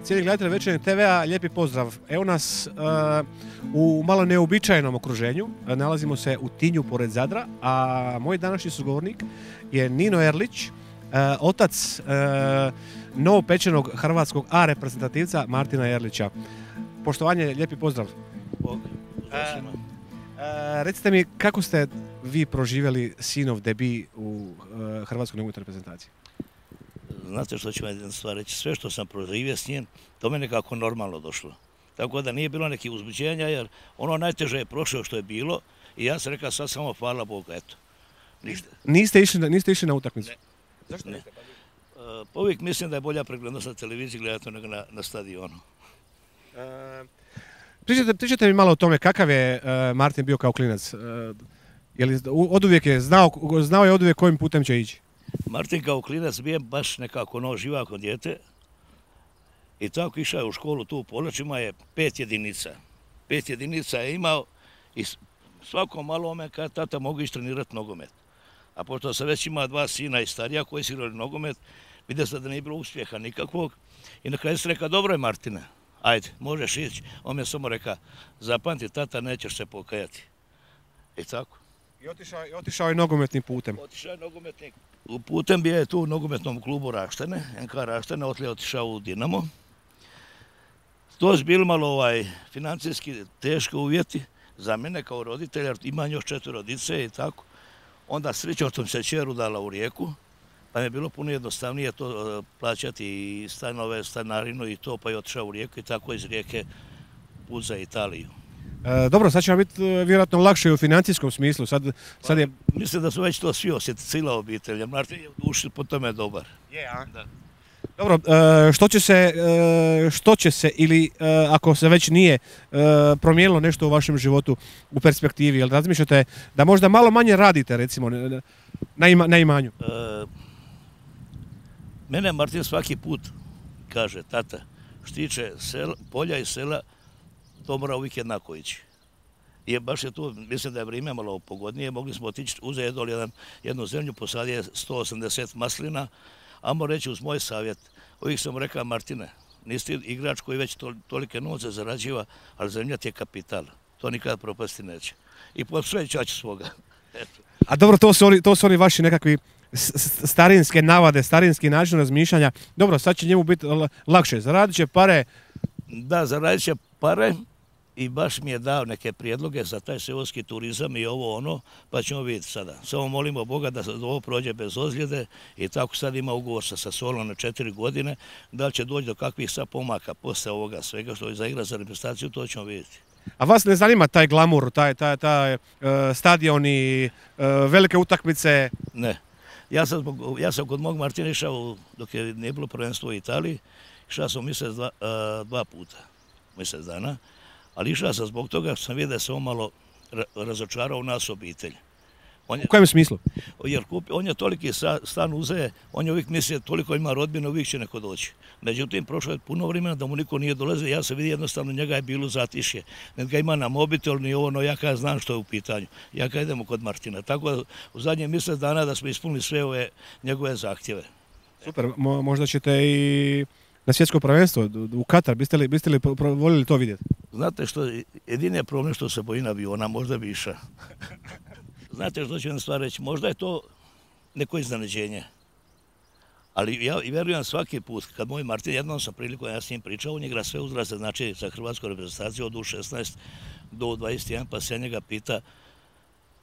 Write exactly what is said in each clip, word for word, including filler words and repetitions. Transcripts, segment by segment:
cijeli gledatelj Večernjeg te vea, lijepi pozdrav. Evo nas uh, u malo neobičajenom okruženju. Nalazimo se u Tinju pored Zadra, a moj današnji sugovornik je Nino Erlić, uh, otac uh, novopečenog hrvatskog A reprezentativca Martina Erlića. Poštovanje, lijepi pozdrav. Bog, uh, uh, recite mi, kako ste vi proživjeli sinov debi u uh, hrvatskoj nogometnoj reprezentaciji? Znate što ću vam jedna stvar reći, sve što sam proživio s njim, to me nekako normalno došlo. Tako da nije bilo nekih uzbuđenja, jer ono najteže je prošlo što je bilo i ja sam rekao sad samo hvala Bogu, eto. Ništa. Niste išli na, niste išli na utakmicu? Ne. Zašto ne? niste? Uh, pa uvijek mislim da je bolja preglednost na televiziji gledati nego na, na stadionu. Uh, pričajte, pričajte mi malo o tome kakav je uh, Martin bio kao klinac. Uh, je li oduvijek je znao, znao je oduvijek kojim putem će ići? Martin kao klinac bio baš nekako no, živako dijete i tako išao je u školu tu u Polačima je pet jedinica. Pet jedinica je imao i svako malo ome kada tata mogu ići trenirati nogomet. A pošto sam već imao dva sina i starija koji su igrali nogomet, vidio sam da nije bilo uspjeha nikakvog i na kraju sam rekao, dobro je Martine, ajde, možeš ići. On mi je samo rekao, zapamti tata, nećeš se pokajati. I tako. I otišao, i otišao je nogometnim putem. Otišao je nogometnim putem, bio je tu u nogometnom klubu Raštene, N K Raštene, otlije otišao u Dinamo. To su bili malo ovaj, financijski teški uvjeti za mene kao roditelja, jer imam još četiri dice i tako. Onda srećom sam se čeru dala u Rijeku, pa mi je bilo puno jednostavnije to uh, plaćati i stanove, stanarinu i to, pa je otišao u Rijeku i tako iz Rijeke put za Italiju. E, dobro, sad će vam biti e, vjerojatno lakše u financijskom smislu. Sad, sad je... Pa, mislim da su već to svi osjetili, cijela obitelj, jer Martin je u duši po tome dobar. Je, a? Da. Dobro, e, što će se, e, što će se ili e, ako se već nije e, promijenilo nešto u vašem životu u perspektivi, jel razmišljate da možda malo manje radite recimo na, ima, na imanju? E, mene Martin svaki put kaže, tata, što tiče sela, polja i sela, to mora uvijek jednako ići. I baš je tu, mislim da je vrijeme malo pogodnije, mogli smo otići, uzeti jedan, jednu zemlju, posadio sto osamdeset maslina, a moram reći uz moj savjet, uvijek sam rekao, Martine, nisi igrač koji već to, tolike novce zarađiva, ali zemlja ti je kapital, to nikada propasti neće. I poslušaj čači svoga. Eto. A dobro, to su oni, to su oni vaši nekakvi starinske navade, starinski način razmišljanja. Dobro, sad će njemu biti lakše, zaradit će pare. Da, zaradit će pare. I baš mi je dao neke prijedloge za taj seoski turizam i ovo ono, pa ćemo vidjeti sada. Samo molimo Boga da ovo prođe bez ozljede i tako sad ima ugovor sa Sassuolom na četiri godine. Da li će doći do kakvih sad pomaka posle ovoga svega što je za igra za reprezentaciju, to ćemo vidjeti. A vas ne zanima taj glamur, taj, taj, taj uh, stadion i uh, velike utakmice? Ne. Ja sam, zbog, ja sam kod mog Martina išao, dok je nije bilo prvenstvo u Italiji, išao sam mjesec dva, uh, dva puta, mjesec dana. Ali išao sam zbog toga što sam vidio da se on malo razočarao u nas obitelj. On je, u kojem smislu? Jer kupi, on je toliki stan uzeje, on je uvijek mislio toliko ima rodbine, uvijek će neko doći. Međutim, prošlo je puno vremena da mu niko nije dolazio, ja sam vidio jednostavno njega je bilo zatišje. Ne ga ima na mobitel, ni ovo, no ja kada znam što je u pitanju. Ja kada idemo kod Martina. Tako da u zadnje mjesec dana da smo ispunili sve ove njegove zahtjeve. Super, Mo, možda ćete i na svjetsko prvenstvo u Katar, biste li, biste li voljeli to vidjeti? Znate što, jedini je problem što se bojim aviona, možda bi išao. Znate što ću vam stvar reći, možda je to neko iznenađenje. Ali ja vjerujem svaki put, kad moj Martin, jednom sam priliku, ja s njim pričao, on igra sve uzraste, znači za hrvatsku reprezentaciju od U šesnaest do dvadeset jedan, pa se ja njega pita,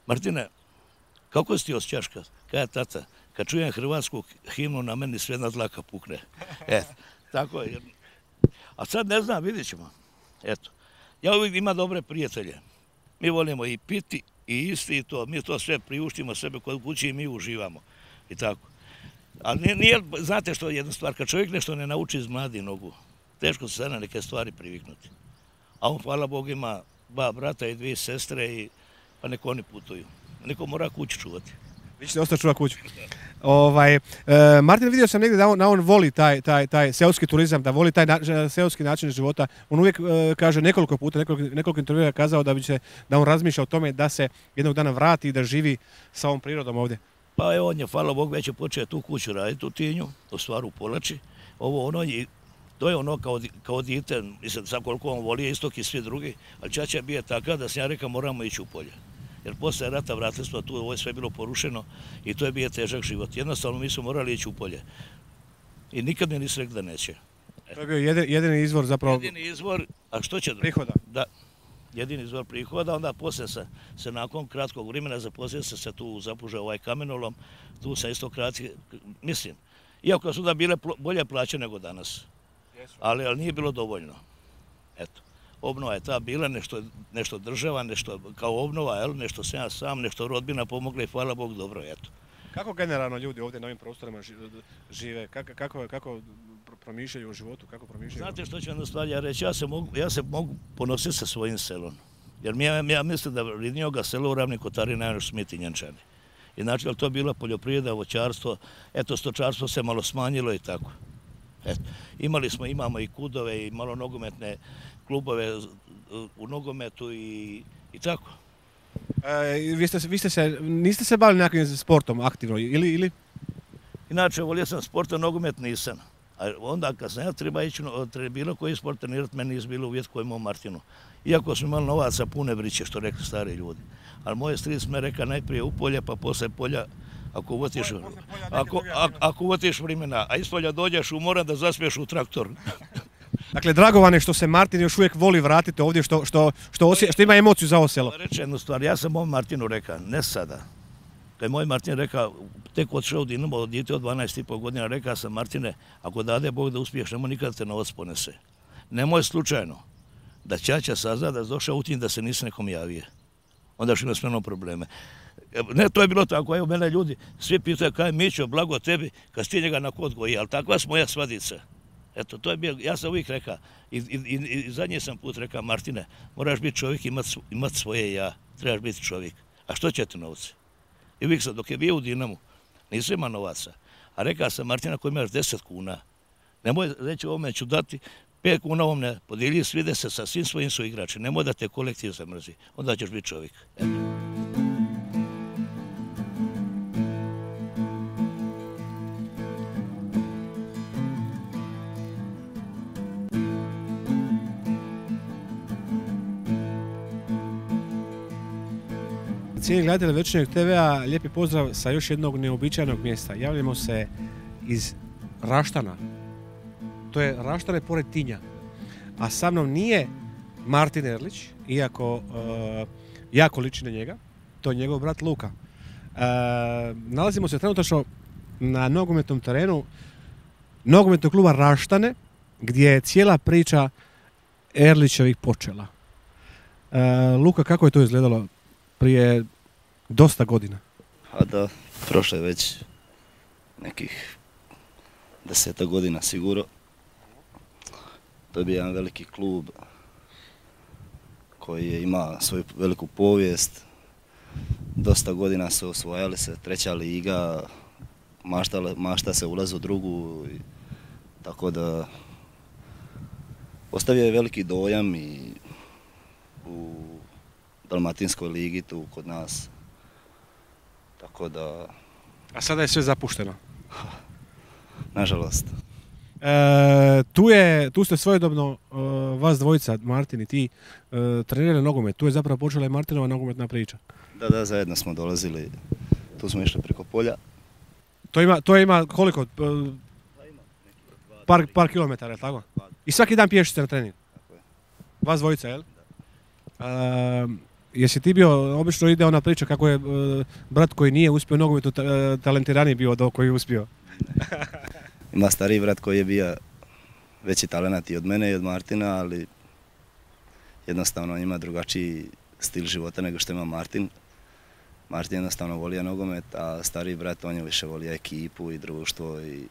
Martine, kako si ti osjećaš kad? Kada tata, kad čujem hrvatsku himnu, na meni sve na dlaka pukne. E, tako je. A sad ne znam, vidjet ćemo. Eto, ja uvijek imam dobre prijatelje. Mi volimo i piti i isti i to. Mi to sve priuštimo sebe kod kući i mi uživamo. I tako. Ali nije, nije, znate što je jedna stvar, kad čovjek nešto ne nauči iz mladi nogu, teško se na neke stvari priviknuti. A on, hvala Bogu, ima dva brata i dvije sestre i pa neko oni putuju. Neko mora kuću čuvati. Vi ćete ostati čuva kuću. Ovaj, e, Martin, vidio sam negdje da on, da on voli taj, taj, taj seoski turizam, da voli taj na, seoski način života. On uvijek e, kaže nekoliko puta, nekoliko, nekoliko intervjua je kazao da, bi se, da on razmišlja o tome da se jednog dana vrati i da živi sa ovom prirodom ovdje. Pa evo, on je, hvala Bogu, već je počeo tu kuću raditi u Tinju, u stvaru u Polači. Ovo ono, i To je ono kao, kao dite, mislim, sad koliko on voli istok i svi drugi, ali čača je bio takav da sam ja rekao moramo ići u polje. Jer posle rata vratili smo tu, ovo je sve bilo porušeno i to je bio težak život. Jednostavno mi smo morali ići u polje. I nikad mi nisi rekli da neće. To je bio jedini, jedini izvor zapravo... Jedini izvor, a što će... Prihoda. Da, jedini izvor prihoda, onda poslije se, se nakon kratkog vremena zaposlio se se tu zapužao ovaj kamenolom, tu sam isto kratki, mislim, iako su da bile bolje plaće nego danas, ali, ali nije bilo dovoljno. Eto, obnova je ta bila, nešto, nešto država, nešto kao obnova, jel, nešto sam ja sam, nešto rodbina pomogla i hvala Bog dobro, eto. Kako generalno ljudi ovdje na ovim prostorima žive, kako, kako, kako promišljaju o životu, kako promišljaju? Znate što ću vam stvari ja reći, ja se mogu, ja se mogu ponositi sa svojim selom. Jer mi, ja, ja mislim da Ridnjoga selo u Ravnim Kotarima najviše su mi Tinjančani. I znači, ali to je bila poljoprivreda, voćarstvo, eto, stočarstvo se malo smanjilo i tako. Eto, imali smo, imamo i kudove i malo nogometne klubove u nogometu i, i tako. E, vi, ste, vi ste se, niste se bavili nekakvim sportom aktivno ili, ili? Inače, volio sam sport, a nogomet nisam. A onda kad sam ja treba ići bilo koji sport trenirati, meni nije bilo uvjet koji imao Martinu. Iako smo imali novaca pune vriće, što rekli stari ljudi. Ali moj stric me reka najprije u polje, pa posle polja, ako uvotiš, ako, ako, ako uvotiš vremena, a iz polja dođeš u mora da zaspiješ u traktor. Dakle, drago vam je što se Martin još uvijek voli vratiti ovdje, što, što, što, osje, što ima emociju za ovo selo. Reći jednu stvar, ja sam moj Martinu rekao, ne sada. Kad je moj Martin rekao, tek otišao u Dinamo od djete od dvanaest i pol godina, rekao sam, Martine, ako dade Bog da uspiješ, nemoj nikada te novac ponese. Nemoj slučajno da ćaća sazna da je došao u tim da se nisi nekom javije. Onda što ima smjerno probleme. Ne, to je bilo tako, evo mene ljudi, svi pitaju kaj Mićo, blago tebi, kad si ti njega na kod goji, ali takva su moja svadica. Eto, to je bio, ja sam uvijek rekao, i, i, i, i zadnji sam put rekao, Martine, moraš biti čovjek, imati imat svoje ja, trebaš biti čovjek. A što će ti novce? I uvijek sam, dok je bio u Dinamu, nisam ima novaca. A rekao sam, Martina, ako imaš deset kuna, nemoj reći ovome ću dati, pet kuna ovom ne, podijeli svide se sa svim svojim su igrači, nemoj da te kolektiv zamrzi, onda ćeš biti čovjek. Eto. Cijeli gledatelj Večernjeg te vea, lijepi pozdrav sa još jednog neobičajnog mjesta. Javljamo se iz Raštana. To je Raštane pored Tinja. A sa mnom nije Martin Erlić, iako uh, jako liči na njega. To je njegov brat Luka. Uh, nalazimo se trenutačno na nogometnom terenu nogometnog kluba Raštane, gdje je cijela priča Erlićevih počela. Uh, Luka, kako je to izgledalo prije dosta godina? A da, prošlo je već nekih deseta godina sigurno. To je bio jedan veliki klub koji ima svoju veliku povijest. Dosta godina se osvojali se, treća liga, mašta, mašta se ulazi u drugu. I, tako da ostavio je veliki dojam i u Dalmatinskoj ligi tu kod nas. Tako da... A sada je sve zapušteno? Nažalost. E, tu, je, tu ste svojedobno, uh, vas dvojica, Martin i ti, uh, trenirali nogomet. Tu je zapravo počela i Martinova nogometna priča. Da, da, zajedno smo dolazili. Tu smo išli preko polja. To ima, to ima koliko? Uh, par, par kilometara, tako? I svaki dan pješice na trening? Tako je. Vas dvojica, jel? Uh, Jesi ti bio, obično ide ona priča kako je uh, brat koji nije uspio nogometu ta, uh, talentiraniji bio od ovog koji je uspio. Ima stariji brat koji je bio veći talenat i od mene i od Martina, ali jednostavno on ima drugačiji stil života nego što ima Martin. Martin jednostavno volio nogomet, a stariji brat on je više volio ekipu i društvo. I...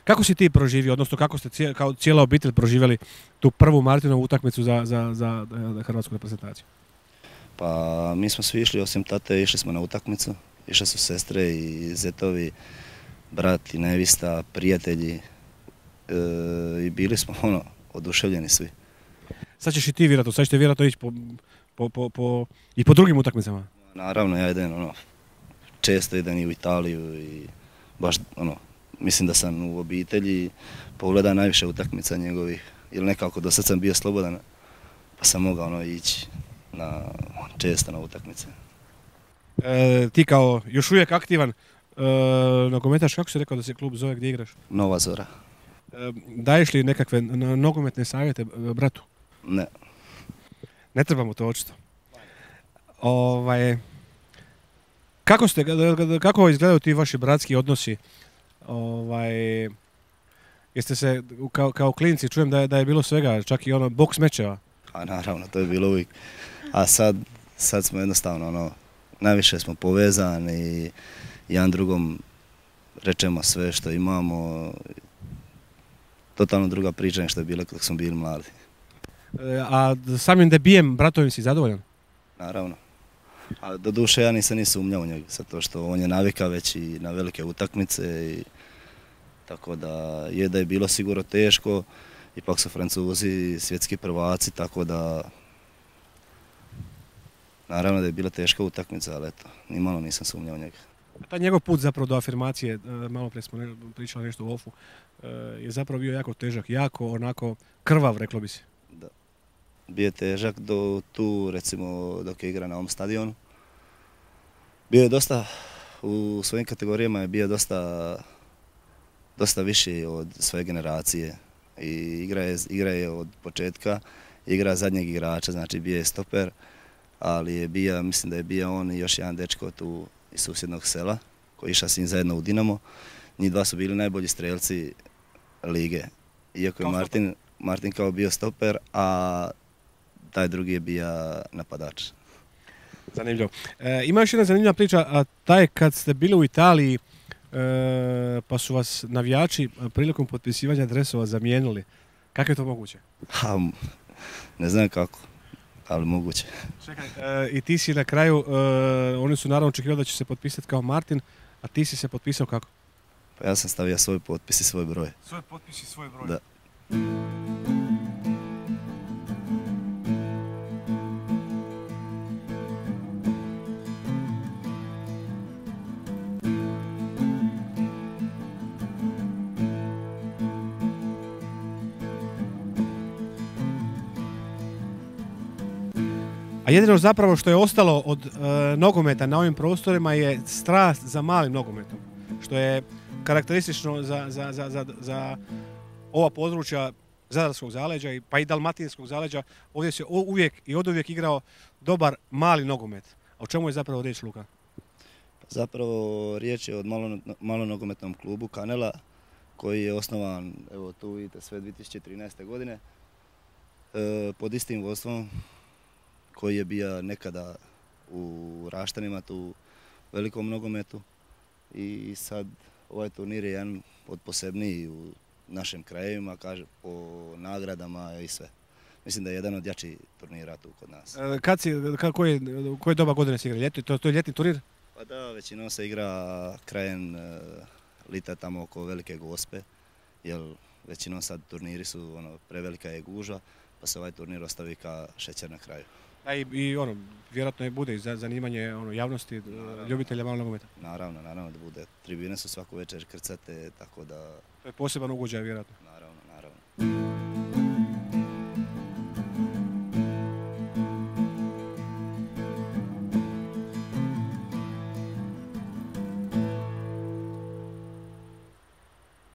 Kako si ti proživio, odnosno kako ste cijel, kao cijela obitelj proživjeli tu prvu Martinovu utakmicu za, za, za hrvatsku reprezentaciju? Pa mi smo svi išli, osim tate, išli smo na utakmicu. Išle su sestre i zetovi, brat i nevista, prijatelji e, i bili smo ono, oduševljeni svi. Sad ćeš i ti vjerojatno, sad ćete vjerojatno ići po, po, po, po, i po drugim utakmicama? Naravno, ja idem, ono, često idem i u Italiju i baš ono, mislim da sam u obitelji pogledao najviše utakmica njegovih, ili nekako do sad sam bio slobodan, pa sam mogao ono ići na, često na utakmice. E, ti kao još uvijek aktivan e, nogometaš, kako si rekao da se klub zove, gdje igraš? Nova Zora. E, daješ li nekakve nogometne savjete bratu? Ne. Ne trebamo to očito. Ovaj, kako, ste, kako izgledaju ti vaši bratski odnosi? Ovaj, jeste se kao, kao klinci, čujem da je, da je bilo svega, čak i ono boks mečeva. A naravno, to je bilo uvijek. A sad, sad smo jednostavno ono, najviše smo povezani, jedan drugom rečemo sve što imamo. Totalno druga priča nego što je bilo dok smo bili mladi. E, a samim debijem bratovim si zadovoljan? Naravno. A do duše ja nisam ni sumnjao u njega, zato što on je navika već i na velike utakmice. I, tako da je da je bilo sigurno teško, ipak su Francuzi svjetski prvaci, tako da naravno da je bila teška utakmica, ali eto, nimalo nisam sumnjao u njega. Taj njegov put zapravo do afirmacije, malo prije smo pričali nešto u ofu, je zapravo bio jako težak, jako onako krvav, reklo bi se. Da. Bio je težak do tu, recimo, dok je igra na ovom stadionu. Bio je dosta, u svojim kategorijama je bio dosta, dosta viši od svoje generacije. I igra je, igra je od početka, igra zadnjeg igrača, znači bio je stoper, ali je bio, mislim da je bio on i još jedan dečko tu iz susjednog sela, koji je išao s njim zajedno u Dinamo. Njih dva su bili najbolji strelci lige. Iako je Martin, Martin kao bio stoper, a taj drugi je bio napadač. Zanimljivo. E, ima još jedna zanimljiva priča, a taj kad ste bili u Italiji, e, pa su vas navijači prilikom potpisivanja dresova zamijenili. Kako je to moguće? Ha, ne znam kako, ali moguće. Čekaj, e, i ti si na kraju, e, oni su naravno očekivali da će se potpisati kao Martin, a ti si se potpisao kako? Pa ja sam stavio svoj potpis i svoj broj. Svoj potpis i svoj broj? Da. A jedino zapravo što je ostalo od e, nogometa na ovim prostorima je strast za malim nogometom, što je karakteristično za, za, za, za, za ova područja Zadarskog zaleđa i pa i Dalmatinskog zaleđa. Ovdje se uvijek i oduvijek igrao dobar mali nogomet. A o čemu je zapravo riječ, Luka? Zapravo riječ je o malom nogometnom klubu Kanela, koji je osnovan, evo tu vidite, sve dvije tisuće trinaeste. godine e, pod istim vodstvom koji je bio nekada u Raštanima, tu velikom nogometu. I sad ovaj turnir je jedan od posebnijih u našim krajevima, kaže, po nagradama i sve. Mislim da je jedan od jačih turnira tu kod nas. E, kad si, kad, koje, koje doba godine se igra? Ljeti, to, to je ljetni turnir? Pa da, većinom se igra krajem e, lita tamo oko Velike Gospe, jer većinom sad turniri su, ono, prevelika je gužva, pa se ovaj turnir ostavi ka šećer na kraju. A i, i ono, vjerojatno je bude i za zanimanje ono, javnosti, naravno, ljubitelja malog nogometa. Naravno, naravno da bude. Tribine su svaku večer krcate, tako da... To je poseban ugođaj, vjerojatno. Naravno, naravno.